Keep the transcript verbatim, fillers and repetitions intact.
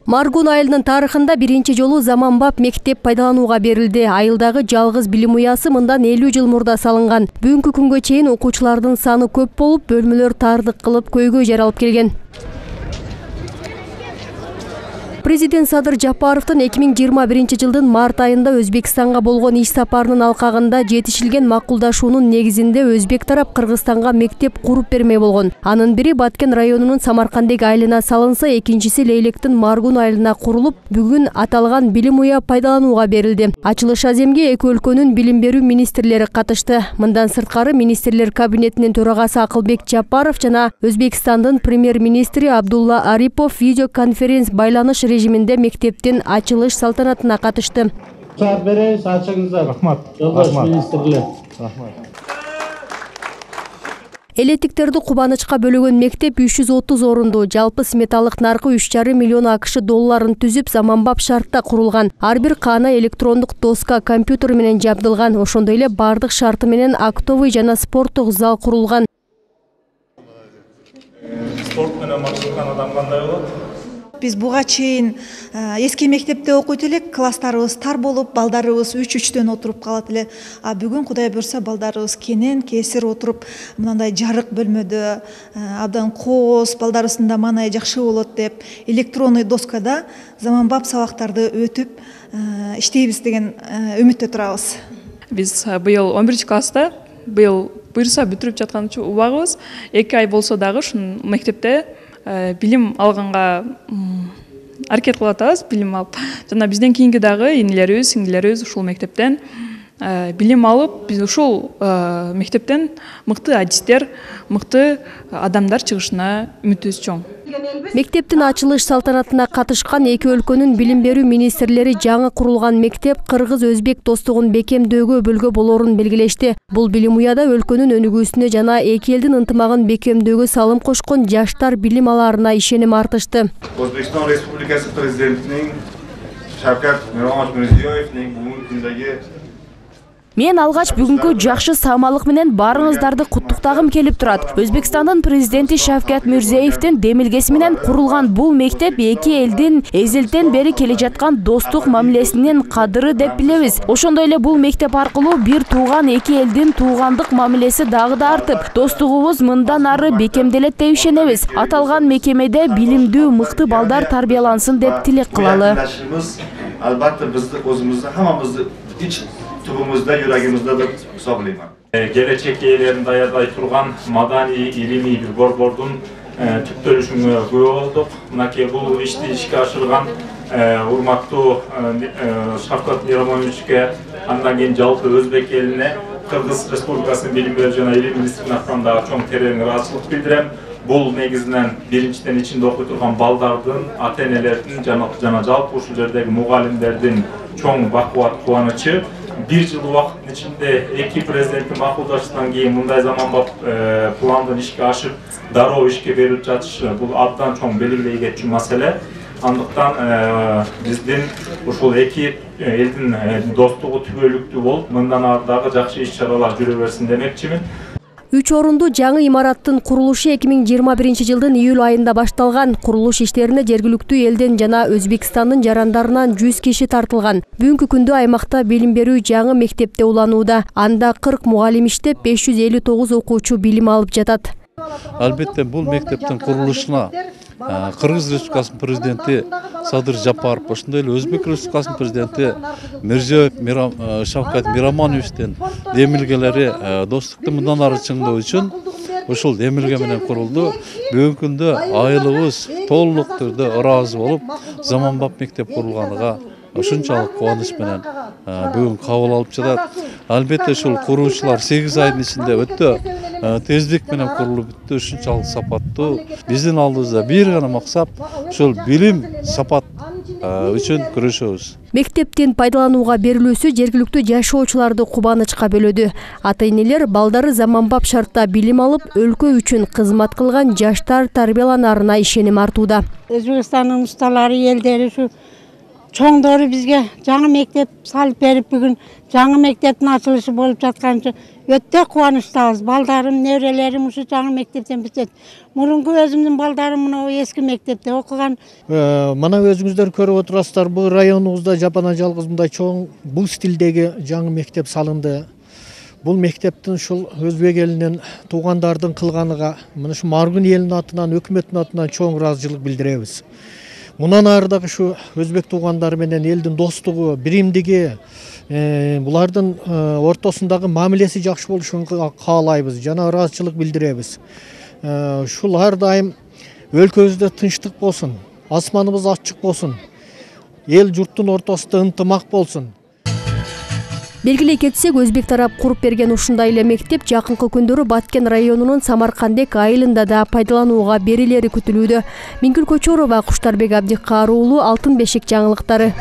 Маргун айылынын тарыхында биринчи жолу заманбап мектеп пайдаланууга берилди. Айылдагы жалгыз билим уясы мындан элүү жыл мурда салынган. Бүгүнкү күнгө чейин окуучулардын саны көп болуп, бөлмөлөр тардык кылып көйгөй жаралып келген. Президент Садыр Жапаровдун эки миң жыйырма биринчи жылдын март айында Өзбекстанга болгон иш сапарынын алкагында жетишилген макулдашуунун негизинде өзбек тарап Кыргызстанга мектеп куруп бермей болгон. Анын бири Баткен районунун Самаркандек айылына салынса, экинчиси Лейлектин Маргун айылына курулуп, бүгүн аталган билим уя пайдаланууга берилди. Ачылыш аземге эки өлкөнүн билим берүү министрлери катышты. Мындан сырткары министрлер кабинетинин төрагасы Акылбек Жапаров жана Өзбекстандын премьер-министри Абдулла Арипов видеоконференц байланыш режиминде мектептин ачылыш салтанатына катышты. Элетиктерди кубанычка бөлөгөн мектеп үч жүз отуз орунду, жалпы сметалык наркы үч жарым миллион акш долларын түзүп, заманбап шартта курулган. Ар бир каана электрондук доска компьютер менен жабдылган. Ошондой эле бардык шарты менен актовый жана спорттук зал курулган. Спорт менен максаттаган адам кандай болот? Биз буга чейин эски мектепте окуйт элек, класстарыбыз тар болуп, балдарыбыз үч үчтөн отуруп калат эле. А бүгүн Кудай буйрса балдарыбыз кенен кесир отуруп, мындай жарык бөлмөдө абдан кооз, балдарыбыздын да маанайы жакшы болот деп, электронный доскада заманбап сабактарды өтүп иштейбиз деген үмүттө турабыз. Биз быйыл он биринчи класста, быйыл буйрса бүтүрүп жаткан убагыбыз, эки ай болсо дагы ушул мектепте билим алганга аракет кылып атабыз, билим алып. Жана бизден кийинки дагы инилерибиз, сиңдилерибиз ушул мектептен билим алып, биз ушул мектептен мыкты адистер, мыкты адамдар чыгышына үмүтүбүз чоң. Мектептин ачылыш салтанатына катышкан эки өлкөнүн билим берүү министрлери жаңы курулган мектеп кыргыз-өзбек достугун бекемдөөгө өбөлгө болорун белгилешти. Бул билим уяда өлкөнүн өнүгүүсүнө жана эки элдин ынтымагын бекемдөөгө салым кошкон жаштар билим алаарына ишеним артышты. Өзбекстан Республикасы президентинин Шавкат Мирзиёевдин бүгүнкү күндөгү Мен алгач бүгүнкү жакшы саамалык менен баарыңыздарды куттуктагым келип турат. Өзбекстандын президенти Шавкат Мирзиёевдин демилгеси менен курулган бул мектеп эки элдин эзелтен бери келе жаткан достук мамилесинин кадыры деп билебиз. Ошондой эле бул мектеп аркылуу бир тууган эки элдин туугандык мамилеси дагы да артып, достугубуз мындан ары бекемделет деп ишенебиз. Аталган мекемеде билимдүү мыкты балдар тарбиялансын деп тилек кылалы. Албатта бизди өзүбүздү хаммабызды тубумузда, юрагыбызда деп санайм. Келечек ээлерин даярдай турган маданий, илимий бир борбордун түптөлүшүнө күбө болдук. Мынакей бул ишти ишке ашырган урматтуу Шавкат Мирамоновичке, андан кийин жалпы өзбек элине, Кыргыз Республикасынын билим берүү жана илим министринин атынан дагы чоң терең ыраазычылык билдирем. Бул негизинен биринчиден ичинде окуй турган балдардын, ата-энелердин жана жалпы ушул жердеги мугалимдердин чоң бакубат кубанычы. Бир жыл убакыттын ичинде эки президенттин макулдашуудан кийин мындай заманбап пландын ишке ашып, дароо ишке берилип жатышы бул абдан чоң белгилей кетчү маселе. Андыктан биздин ушул эки элдин достугу түбөлүктүү болуп, мындан ары дагы жакшы иш-чаралар жүрө берсин демекчимин. Үч орунду жаңы имараттын курулушу эки миң жыйырма биринчи жылдын июль айында башталган. Курулуш иштерине жергиликтүү элден жана Өзбекстандын жарандарынан жүз киши тартылган. Бүгүнкү күндө аймакта билим берүү жаңы мектепте уланууда. Анда кырк мугалим иштеп, беш жүз элүү тогуз окуучу билим алып жатат. Албетте бул мектептин курулушуна Кыргыз Республикасынын президенти Садыр Жапаров, ошондой эле Өзбек Республикасынын президенти Мирзиёев Шавкат Мирамоновичтин демилгелери достукту мындан ары чыңдоо үчүн ушул демилге менен курулду. Бүгүнкү күндө айылыбыз толук түрдө ыраазы болуп, заманбап мектеп курулганына ушунчалык кубаныч менен бүгүн кабыл алып жатат. Албетте ушул куруучулар сегиз айдын ичинде өтө тездик менен курулуп бүттү, ушунчалык сапаттуу. Биздин алдыбызда бир гана максат ушул билим сапат үчүн күрөшөбүз. Мектептин пайдаланууга берилүүсү жергиликтүү жашоочуларды кубанычка бөлөдү. Ата-энелер балдары заманбап шартта билим алып, өлкө үчүн кызмат кылган жаштар тарбияланарына ишеним артууда. Өзбекстандын усталары элдери ушу чоңдору бизге жаңы мектеп салып берип, бүгүн жаңы мектептин ачылышы болуп жаткан үчүн өтө кубанычтабыз. Балдарым, неберелерим ушу жаңы мектептен бүтөт. Мурунку өзүмдүн балдарым мына эски мектепте окуган. Мына өзүңүздөр көрүп отурасыздар, бул районубузда жапана жалгыз мындай чоң бул стилдеги жаңы мектеп салынды. Бул мектептин ушул өзбек элинен туугандардын кылганыга мына ушу Маргун элинин атынан, өкмөттүн атынан чоң ыраазычылык билдиребиз. Мундан ары дагы ушу өзбек туугандары менен элдин достугу, биримдиги, булардын ортосундагы мамилеси жакшы болушун каалайбыз жана ыраазычылык билдиребиз. Ушул ар дайым өлкөбүздө тынчтык болсун, асманыбыз ачык болсун, эл журттун ортосунда ынтымак болсун. Белгилей кетсек, өзбек тарап куруп берген ушундай эле мектеп жакынкы күндөрү Баткен районунун Самаркандек айылында да пайдаланууга берилери күтүлүүдө. Мингүл Көчөрова, Куштарбек Абдикары уулу, Алтын бешик жаңылыктары.